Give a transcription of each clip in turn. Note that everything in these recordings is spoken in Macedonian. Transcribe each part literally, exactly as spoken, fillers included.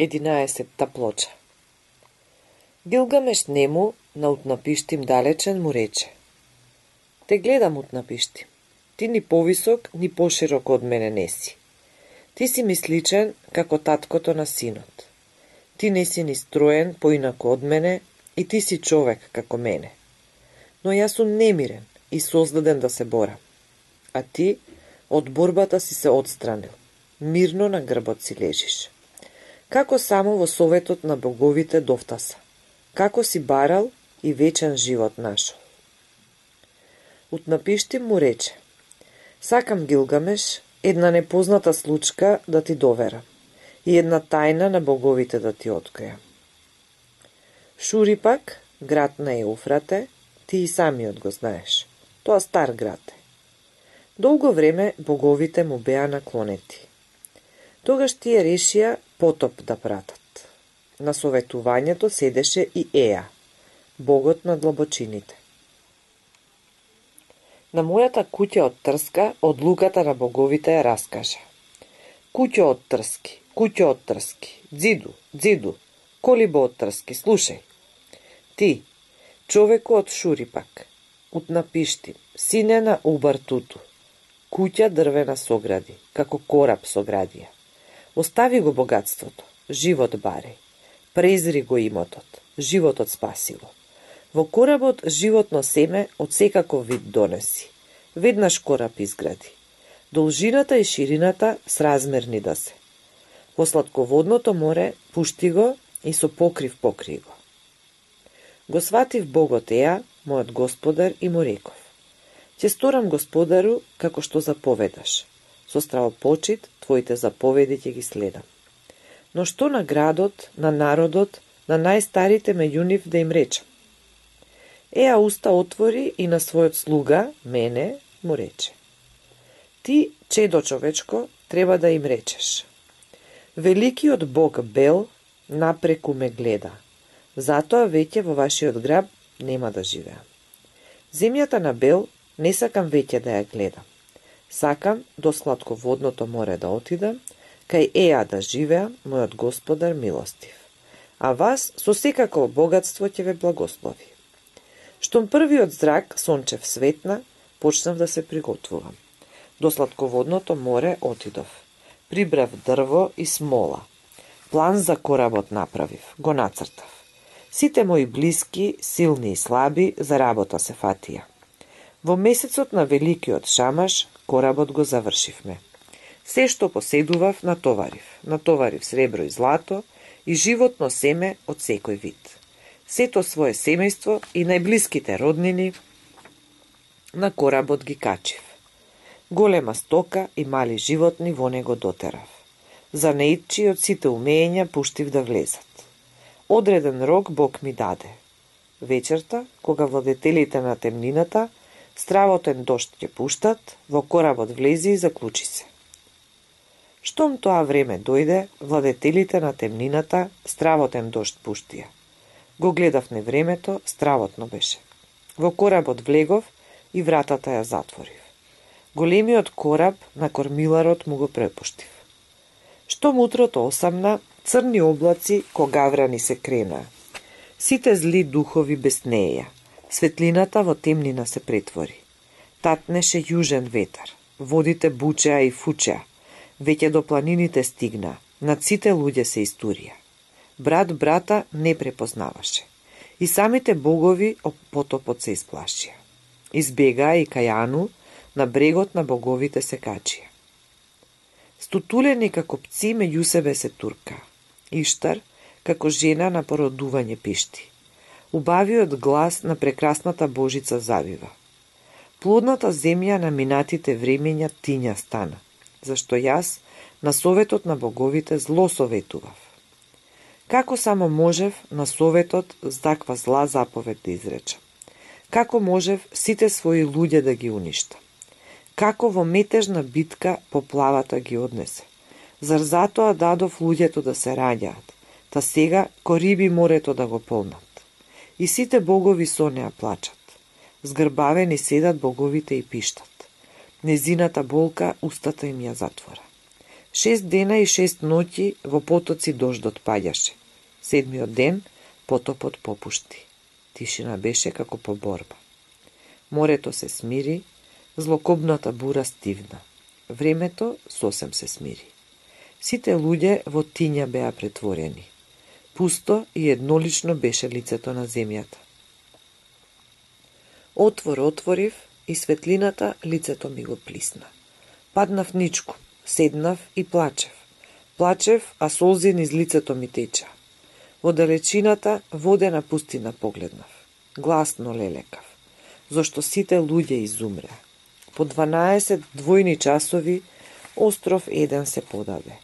Единаесетта плоча. Гилгамеш нему на Утнапиштим далечен му рече: Те гледам, Утнапиштим, ти ни повисок, ни поширок од мене не си. Ти си ми сличен како таткото на синот. Ти не си ни строен поинако од мене и ти си човек како мене. Но јас сум немирен и создаден да се борам. А ти од борбата си се отстранил, мирно на грбот си лежиш. Како само во советот на боговите довтаса, како си барал и вечен живот нашол. Утнапиштим му рече: Сакам, Гилгамеш, една непозната случка да ти доверам и една тајна на боговите да ти откријам. Шурипак, град на Еуфрате, ти и самиот го знаеш. Тоа стар град е. Долго време боговите му беа наклонети. Тогаш тие решија потоп да пратат. На советувањето седеше и Еа, богот на длабочините. На мојата куќа од трска од луката на боговите ја раскажа. Куќо од трски, куќо од трски, дзиду, дзиду, колибо од трски, слушај. Ти, човеку од Шурипак, Утнапиштим, сине на Убартуту, куќа дрвена согради, како кораб соградија. Остави го богатството, живот бареј. Презри го имотот, животот спаси го. Во коработ животно семе од секаков вид донеси. Веднаш кораб изгради. Должината и ширината сразмерни да се. Во сладководното море пушти го и со покрив покри го. Го сватив богот Еа, мојот господар, и му реков: Ќе сторам господару како што заповедаш. Со стравопочит твоите заповеди ќе ги следам. Но што на градот, на народот, на најстарите меѓу нив да им речам? Еа уста отвори и на својот слуга, мене, му рече: Ти, чедо човечко, треба да им речеш: Великиот бог Бел напреку ме гледа, затоа веќе во вашиот град нема да живеам. Земјата на Бел не сакам веќе да ја гледам. Сакам до сладководното море да отидам, кај Еа да живеам, мојот господар милостив. А вас со секако богатство ќе ве благослови. Штом првиот зрак сончев светна, почнав да се приготвувам. До сладководното море отидов. Прибрав дрво и смола. План за коработ направив, го нацртав. Сите мои блиски, силни и слаби, за работа се фатија. Во месецот на великиот шамаш, коработ го завршивме. Се што поседував, натоварив. Натоварив сребро и злато и животно семе од секој вид. Сето свое семејство и најблиските роднини на коработ ги качив. Голема стока и мали животни во него дотерав. За неидчи од сите умења пуштив да влезат. Одреден рок Бог ми даде. Вечерта, кога владетелите на темнината стравотен дожд ќе пуштат, во коработ влези и заклучи се. Штом тоа време дојде, владетелите на темнината стравотен дожд пуштија. Го гледав не времето, стравотно беше. Во коработ влегов и вратата ја затворив. Големиот кораб на кормиларот му го препуштив. Штом утрото осамна, црни облаци когаврани се кренаа. Сите зли духови беснеја. Светлината во темнина се претвори. Татнеше јужен ветар. Водите бучеа и фучеа. Веќе до планините стигна. Над сите луѓе се истурија. Брат брата не препознаваше. И самите богови од потопот се исплашија. Избегаа и кајану, на брегот на боговите се качија. Стутулени како пци меѓу себе се турка. Иштар, како жена на породување пишти. Убавиот глас на прекрасната Божица завива. Плодната земја на минатите времења тиња стана, зашто јас на советот на боговите зло советував. Како само можев на советот с таква зла заповед да изречам? Како можев сите своји луѓе да ги уништам? Како во метежна битка поплавата ги однесе? Зар затоа дадов луѓето да се раѓаат, та сега кориби морето да го полнат? И сите богови со неа плачат. Згрбавени седат боговите и пиштат. Незината болка устата им ја затвора. Шест дена и шест ноќи во потоци дождот паѓаше. Седмиот ден потопот попушти. Тишина беше како по борба. Морето се смири, злокобната бура стивна. Времето сосем се смири. Сите луѓе во тиња беа претворени. Пусто и еднолично беше лицето на земјата. Отвор отворив и светлината лицето ми го плисна. Паднав ничку, седнав и плачев. Плачев, а солзи низ лицето ми теча. Во далечината водена пустина погледнав. Гласно лелекав, зашто сите луѓе изумреа. По дванаесет двојни часови остров еден се подаде.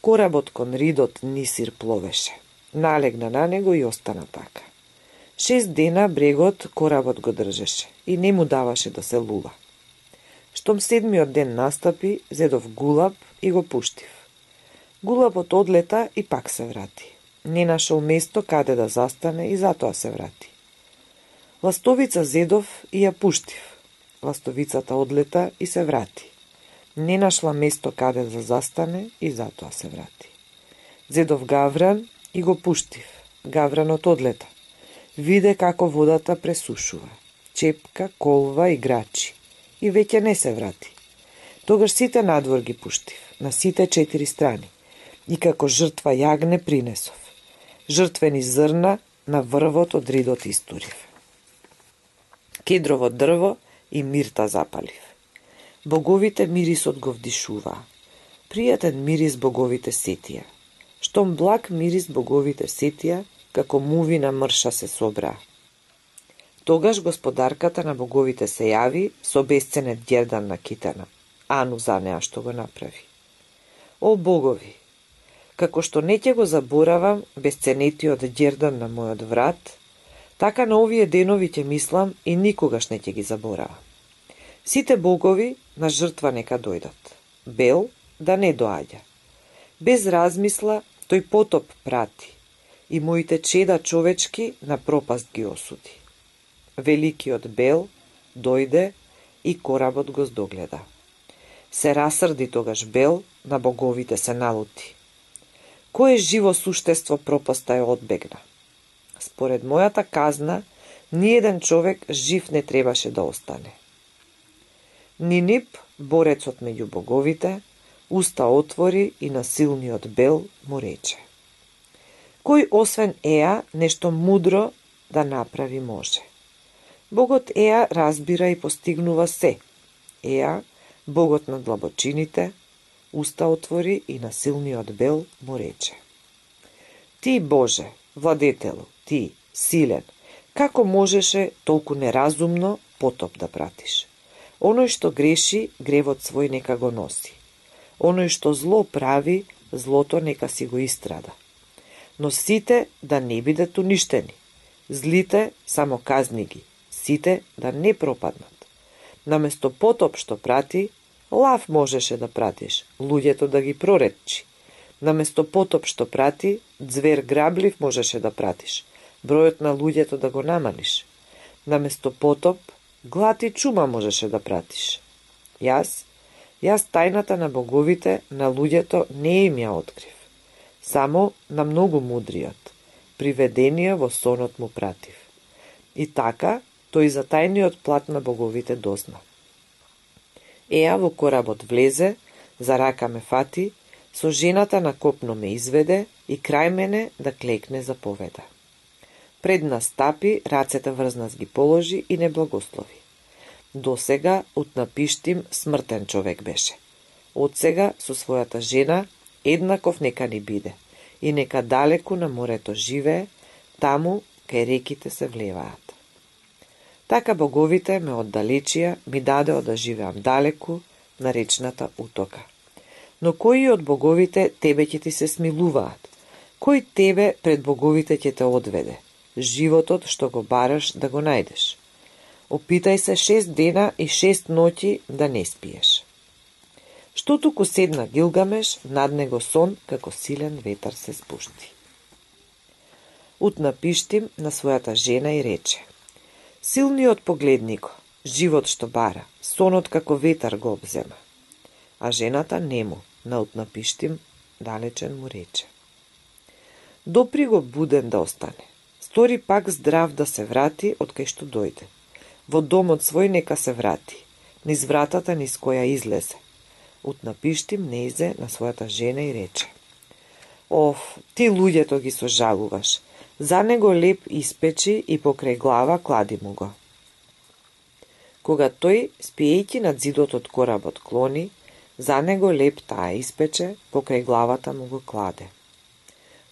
Коработ кон ридот Нисир пловеше. Налегна на него и остана така. Шест дена брегот коработ го држеше и не му даваше да се лува. Штом седмиот ден настапи, зедов гулаб и го пуштив. Гулабот одлета и пак се врати. Не нашол место каде да застане и затоа се врати. Ластовица зедов и ја пуштив. Ластовицата одлета и се врати. Не нашла место каде да застане и затоа се врати. Зедов гавран и го пуштив. Гавранот одлета. Виде како водата пресушува. Чепка, колва и грачи. И веќе не се врати. Тогаш сите надвор ги пуштив, на сите четири страни. И како жртва јагне принесов. Жртвени зрна на врвот од ридот истурив. Кедрово дрво и мирта запалив. Боговите мирисот го вдишуваа. Пријатен мирис боговите сетија. Штом благ мирис боговите сетија, како мувина мрша се собраа. Тогаш господарката на боговите се јави со бесценет ѓердан на китена. Ану за неа што го направи. О богови, како што не ќе го заборавам бесценетиот ѓердан на мојот врат, така на овие денови ќе мислам и никогаш не ќе ги заборавам. Сите богови на жртва нека дојдат. Бел да не доаѓа. Без размисла тој потоп прати и моите чеда човечки на пропаст ги осуди. Великиот Бел дојде и коработ го здогледа. Се расрди тогаш Бел, на боговите се налути. Кое живо суштество пропаста ја одбегна? Според мојата казна, ниеден човек жив не требаше да остане. Нинип, борецот меѓу боговите, уста отвори и на силниот Бел му рече: кој освен Еа нешто мудро да направи може? Богот Еа разбира и постигнува се. Еа, богот на длабочините, уста отвори и на силниот Бел му рече: ти, Боже, владетелу, ти, силен, како можеше толку неразумно потоп да пратиш? Оној што греши, гревот свој нека го носи. Оној што зло прави, злото нека си го истрада. Но сите да не бидат уништени. Злите само казни ги, сите да не пропаднат. Наместо потоп што прати, лав можеше да пратиш, луѓето да ги проретчи. Наместо потоп што прати, звер граблив можеше да пратиш, бројот на луѓето да го намалиш. Наместо потоп, глад и чума можеше да пратиш. Јас, јас тајната на боговите на луѓето не им ја открив. Само на многу мудриот, приведение во сонот му пратив. И така, тој за тајниот плат на боговите дозна. Еа во коработ влезе, за рака ме фати, со жената на копно ме изведе и крај мене да клекне заповеда. Пред нас стапи, рацете врз нас ги положи и не благослови. До сега утнапиштим смртен човек беше. Од сега со својата жена еднаков нека ни биде и нека далеку на морето живее, таму кај реките се влеваат. Така боговите ме оддалечија ми дадео да живеам далеку на речната утока. Но кои од боговите тебе ќе ти се смилуваат? Кој тебе пред боговите ќе те одведе? Животот што го бараш да го најдеш. Опитај се шест дена и шест ноќи да не спиеш. Што туку седна Гилгамеш, над него сон како силен ветар се спушти. Утнапиштим на својата жена и рече: силниот погледнико, живот што бара, сонот како ветар го обзема. А жената нему, на Утнапиштим далечен му рече. Допри го буден да остане. Стори пак здрав да се врати од кај што дојде. Во домот свој нека се врати, низ вратата низ која излезе. Утнапиштим неизе на својата жена и рече: Оф, ти луѓето ги сожалуваш, за него леп испечи и покрај глава клади му го. Кога тој, спиејќи над зидот од коработ, клони, за него леп таа испече, покрај главата му го кладе.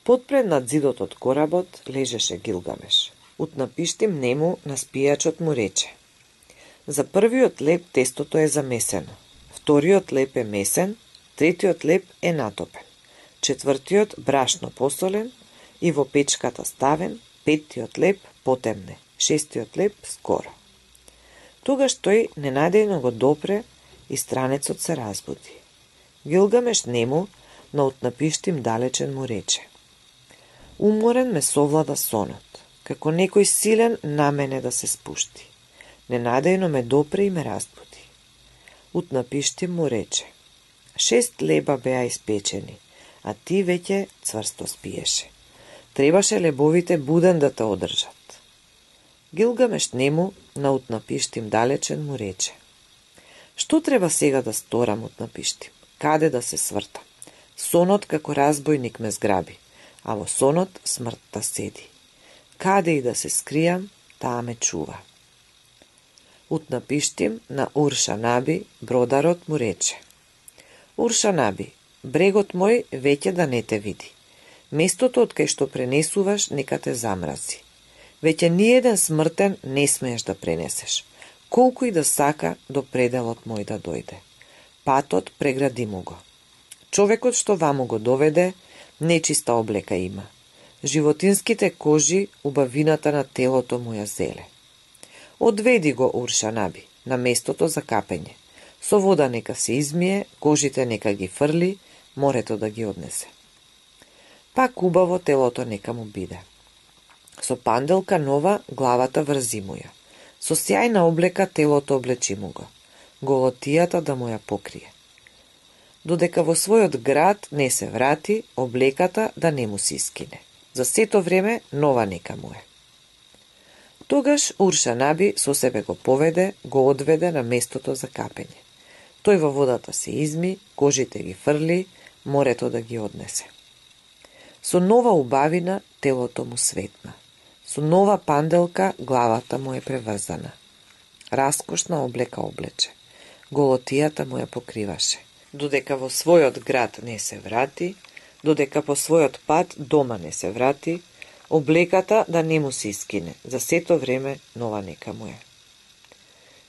Подпред над зидот од коработ лежеше Гилгамеш. Утнапиштим нему на спијачот му рече: За првиот леп тестото е замесено, вториот леп е месен, третиот леп е натопен, четвртиот брашно посолен и во печката ставен, петтиот леп потемне, шестиот леп скоро. Тогаш тој ненадејно го допре и странецот се разбуди. Гилгамеш нему на Утнапиштим далечен му рече: Уморен ме совлада сонот, како некој силен на мене да се спушти. Ненадејно ме допре и ме разбуди. Утнапиштим му рече: Шест леба беа испечени, а ти веќе цврсто спиеше. Требаше лебовите буден да те одржат. Гилгамеш нему на Утнапиштим далечен му рече: Што треба сега да сторам, Утнапиштим? Каде да се свртам? Сонот како разбойник ме зграби, а во сонот смртта седи. Каде и да се скријам, таа ме чува. Утнапиштим на Уршанаби, бродарот му рече: Уршанаби, брегот мој веќе да не те види. Местото од кај што пренесуваш нека те замрази. Веќе ниеден смртен не смееш да пренесеш, колку и да сака до пределот мој да дојде. Патот прегради му го. Човекот што ваму го доведе, нечиста облека има. Животинските кожи убавината на телото му ја зеле. Одведи го, Уршанаби, на местото за капење. Со вода нека се измие, кожите нека ги фрли, морето да ги однесе. Пак убаво телото нека му биде. Со панделка нова главата врзи му ја. Со сјајна облека телото облечи му го. Голотијата да му ја покрие. Додека во својот град не се врати, облеката да не му се искине. За сето време нова нека му е. Тогаш Уршанаби со себе го поведе, го одведе на местото за капење. Тој во водата се изми, кожите ги фрли, морето да ги однесе. Со нова убавина телото му светна. Со нова панделка главата му е преврзана. Раскошна облека облече. Голотијата му ја покриваше. Додека во својот град не се врати, додека по својот пат дома не се врати, облеката да не му се искине, за сето време нова нека му е.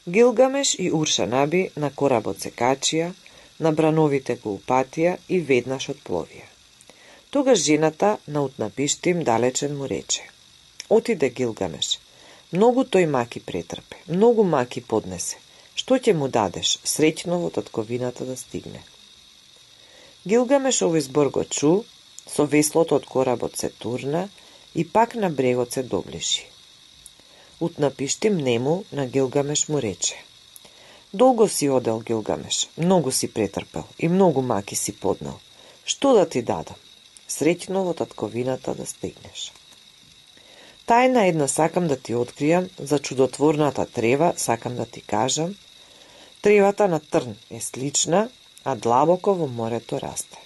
Гилгамеш и Уршанаби на коработ се качија, на брановите го упатија и веднаш отпловија. Тогаш жената на Утнапиштим далечен му рече: Отиде Гилгамеш, многу тој маки претрпе, многу маки поднесе. Што ќе му дадеш, среќно во татковината да стигне? Гилгамеш овој збор го чу, со веслото од коработ се турна и пак на брегот се доближи. Утнапиштим нему на Гилгамеш му рече: Долго си одел, Гилгамеш, многу си претрпел и многу маки си поднел. Што да ти дадам? Среќно во татковината да стигнеш. Тајна една сакам да ти откријам, за чудотворната трева сакам да ти кажам. Тревата на трн е слична, а длабоко во морето расте.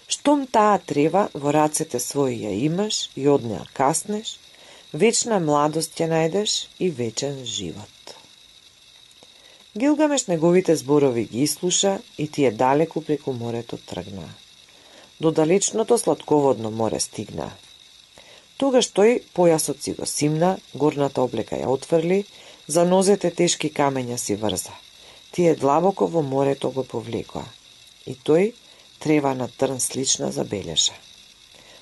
Штом таа трева во рацете своји ја имаш и од неа каснеш, вечна младост ќе најдеш и вечен живот. Гилгамеш неговите зборови ги ислуша и тие далеку преку морето тргнаа. До далечното сладководно море стигнаа. Тогаш тој појасот си го симна, горната облека ја отврли, за нозете тешки камења си врза. Тие длабоко во морето го повлекоа. И тој трева на трн слична забележа.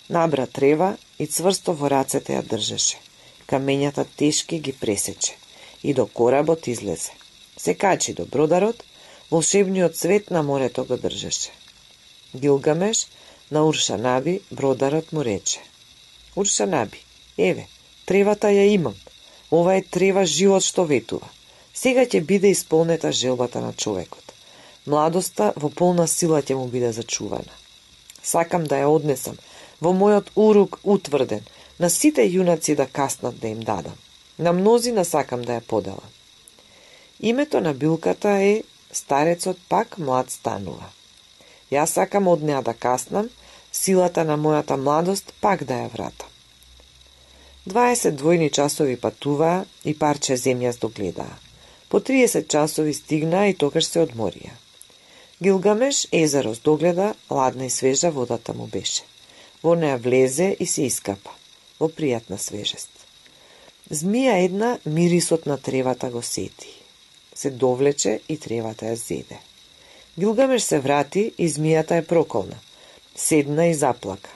Набра трева и цврсто во рацете ја држеше. Камењата тешки ги пресече и до коработ излезе. Се качи до бродарот, волшебниот цвет на морето го држеше. Гилгамеш на Уршанаби, бродарот му рече: Уршанаби, еве, тревата ја имам. Ова е трева живот што ветува. Сега ќе биде исполнета желбата на човекот. Младоста во полна сила ќе му биде зачувана. Сакам да ја однесам во мојот урук утврден, на сите јунаци да каснат да им дадам. На мнозина сакам да ја поделам. Името на билката е Старецот пак млад станува. Јас сакам од неа да каснам, силата на мојата младост пак да ја вратам. дваесет двојни часови патуваа и парче земја здогледаа. По триесет часови стигнаа и тогаш се одморија. Гилгамеш езеро здогледа, ладна и свежа водата му беше. Во неа влезе и се искапа, во пријатна свежест. Змија една мирисот на тревата го сети. Се довлече и тревата ја зеде. Гилгамеш се врати и змијата е проколна. Седна и заплака.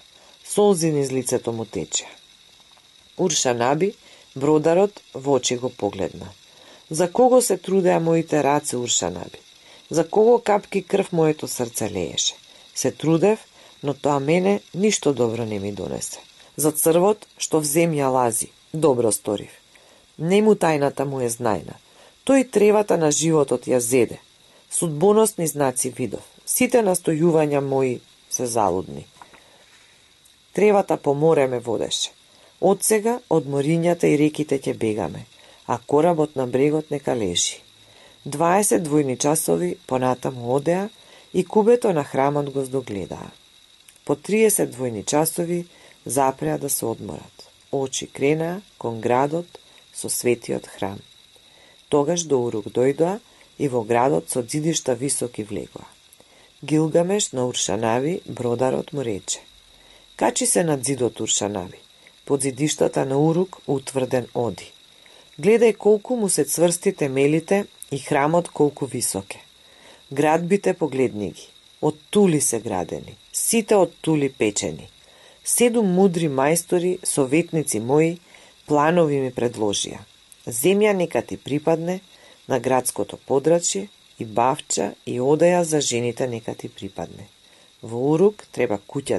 Солзи низ лицето му тече. Уршанаби, бродарот, во очи го погледна. За кого се трудеа моите раце, Уршанаби? За кого капки крв моето срце лееше? Се трудев, но тоа мене ништо добро не ми донесе. За црвот, што в земја лази, добро сторив. Нему тајната му е знајна. Тој тревата на животот ја зеде. Судбоносни знаци видов. Сите настојувања мои се залудни. Тревата по море ме водеше. Од сега од морињата и реките ќе бегаме, а коработ на брегот нека лежи. дваесет двојни часови понатаму одеа и кубето на храмот го здогледаа. По триесет двојни часови запреа да се одморат. Очи кренаа кон градот со светиот храм. Тогаш до урук дојдоа и во градот со ѕидишта високи влегоа. Гилгамеш на Уршанави, бродарот му рече: качи се над ѕидот, Уршанави, под ѕидиштата на урук утврден оди. Гледај колку му се цврсти темелите и храмот колку високе. Градбите погледни ги, од тули се градени, сите од тули печени. Седум мудри мајстори, советници мои, планови ми предложија. Земја нека ти припадне на градското подрачје и бавча и одеја за жените нека ти припадне. Во урук треба куќа